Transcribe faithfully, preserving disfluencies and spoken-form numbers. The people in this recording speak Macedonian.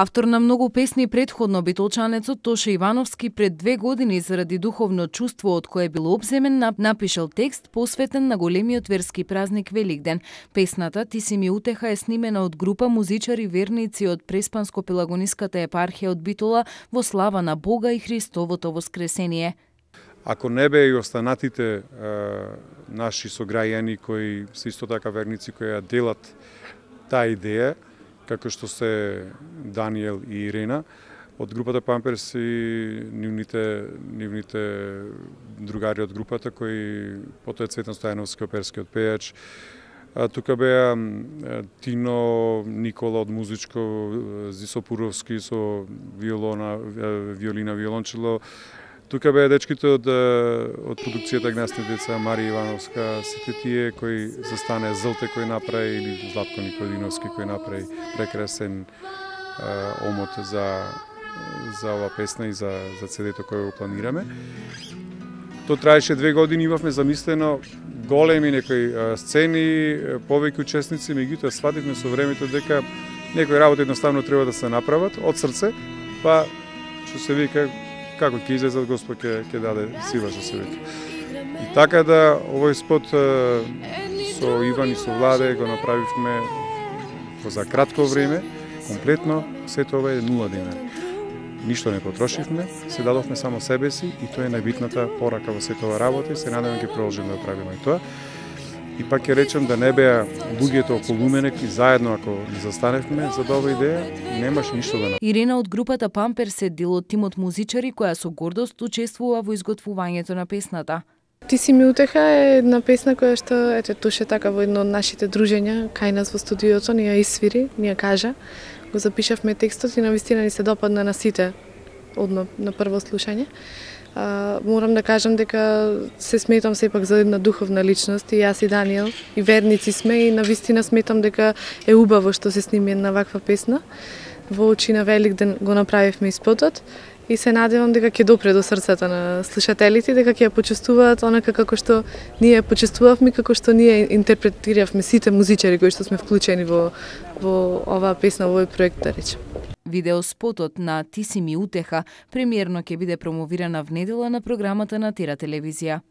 Автор на многу песни претходно, битолчанецот Тоше Ивановски пред две години заради духовно чувство од кое бил обземен, напишал текст посветен на големиот верски празник Великден. Песната "Ти си ми утеха" е снимена од група музичари верници од Преспанско-Пелагониската епархија од Битола во слава на Бога и Христовото воскресение. Ако не бе и останатите е, наши сограјани кои се исто така верници кои ја делат таа идеја, како што се Даниел и Ирена, од групата Памперс и нивните, нивните другари од групата, кои потоа е Цветан Стојановски, оперскиот пејач. А, тука беа Тино, Никола од музичко, Зисо Пуровски со виолона, виолина, виолончело. Тука беа дечките од, од продукцијата Гнасни деца, Марија Ивановска, сите тие кои застане, Злте кој направи, или Златко Никодиновски кој направи прекрасен е, омот за, за ова песна и за, за цедето кој го планираме. То траеше две години, имавме замислено големи некои е, сцени, повеќе учесници, меѓутоа свативме со времето дека некои работи едноставно треба да се направат од срце, па што се вика како ќе излезат, Господ ќе ќе даде сила, што се вика. И така да овој спот со Иван и со Владе го направивме за кратко време, комплетно, се тоа е нула динари. Ништо не потрошивме, се дадовме само себе си и тоа е најбитната порака во сета ова работа и се надевам ќе продолжиме да правиме и тоа. И пак ќе речем да не беа луѓето околу мене и заедно ако не застаневме за оваа идеја, немаше ништо да направиме. Ирена од групата Памперс е дел од тимот музичари која со гордост учествува во изготвувањето на песната. Ти си ми утеха е една песна која што ете туше така во едно од нашите дружења кај нас во студиото ни ја исвири, ни ја кажа. Го запишавме текстот и навистина ни се допадна на сите одма на прво слушање. Uh, морам да кажам дека се сметам сепак за една духовна личност и јас и Даниел и верници сме и навистина сметам дека е убаво што се сними една ваква песна. Во очи на Великден го направивме и спотот и се надевам дека ќе допре до срцата на слушателите, дека ќе ја почувствуваат онака како што ние почувствувавме, како што ние интерпретиравме сите музичари кои што сме вклучени во во оваа песна, во овој проект, да речем. Видеоспотот на "Ти си ми утеха" премиерно ќе биде промовирана в недела на програмата на Тера телевизија.